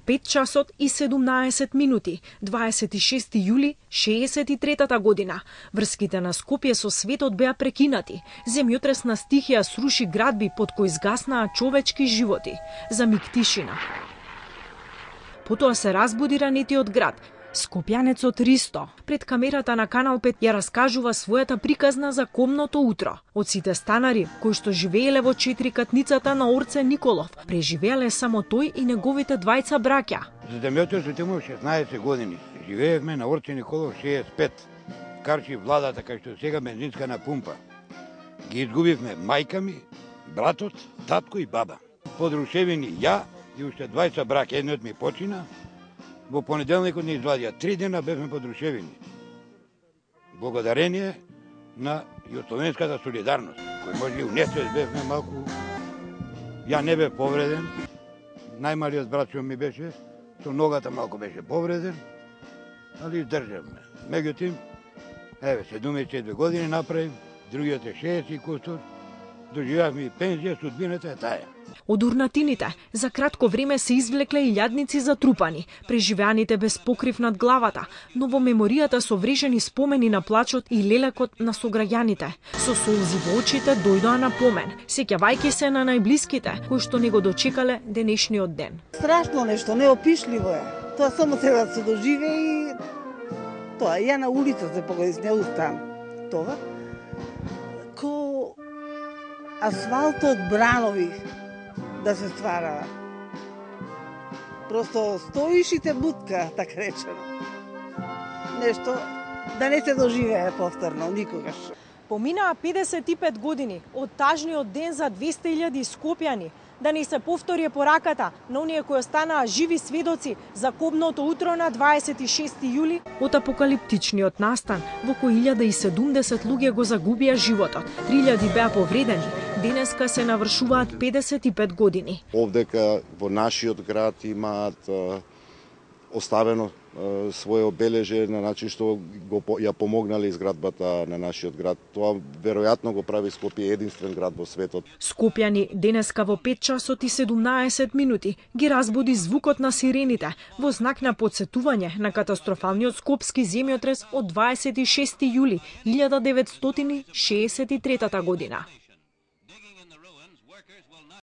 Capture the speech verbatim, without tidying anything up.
пет часот и седумнаесет минути, дваесет и шести јули шеесет и третата година. Врските на Скопје со светот беа прекинати. Земјотресна стихија сруши градби под кои згаснаа човечки животи. За миг тишина. Потоа се разбуди ранетиот град. Скопјанецот Ристо пред камерата на Канал пет ја раскажува својата приказна за комното утро. Од сите станари кои што живееле во четирикатницата на Орце Николов, преживееле само тој и неговите двајца браќа. За земјотресот имав шеснаесет години. Живеевме на Орце Николов шеесет и пет. Карчи владата кај што сега бензинска на пумпа. Ги изгубивме мајка ми, братот, татко и баба. Подрушевени ја и уште двајца браќа, едниот ми почина. Во понеделникот не извадија, три дена бевме подрушевени. Благодарение на југословенската солидарност, кој може и унесет бевме малку. Ја не бев повреден, најмалиот братчо ми беше, со ногата малку беше повреден, али издржавме. Меѓутоа, еве, седумдесет и четири години направим, другиот е шеесет и кустор, доживеавме и пензија, судбината е таа. Од урнатините за кратко време се извлекле илјадници затрупани, преживеаните без покрив над главата, но во меморијата со врежени спомени на плачот и лелекот на сограѓаните. Со солзи во очите дојдоа на помен, сеќавајќи се на најблиските кои што не го дочекале денешниот ден. Страшно нешто, неопишливо е. Тоа само треба да се доживе и тоа ја на улица се погоди, не устан. Тоа ко асфалтот бранови да се стварава. Просто стоиш и те бутка, така речено. Нешто да не се доживее повторно, никогаш. Поминаа педесет и пет години од тажниот ден за двесте илјади скопјани, да не се повтори пораката на оние кои останаа живи сведоци за кобното утро на дваесет и шести јули, од апокалиптичниот настан во кој илјада и седумдесет луѓе го загубија животот, три илјади беа повредени. Денеска се навршуваат педесет и пет години. Овдека во нашиот град имаат е, оставено е, свое обележје на начин што го ја помогнале изградбата на нашиот град. Тоа веројатно го прави Скопје единствен град во светот. Скопјани денеска во пет часот и седумнаесет минути ги разбуди звукот на сирените во знак на потсетување на катастрофалниот скопски земјотрес од дваесет и шести јули илјада деветстотини шеесет и третата година.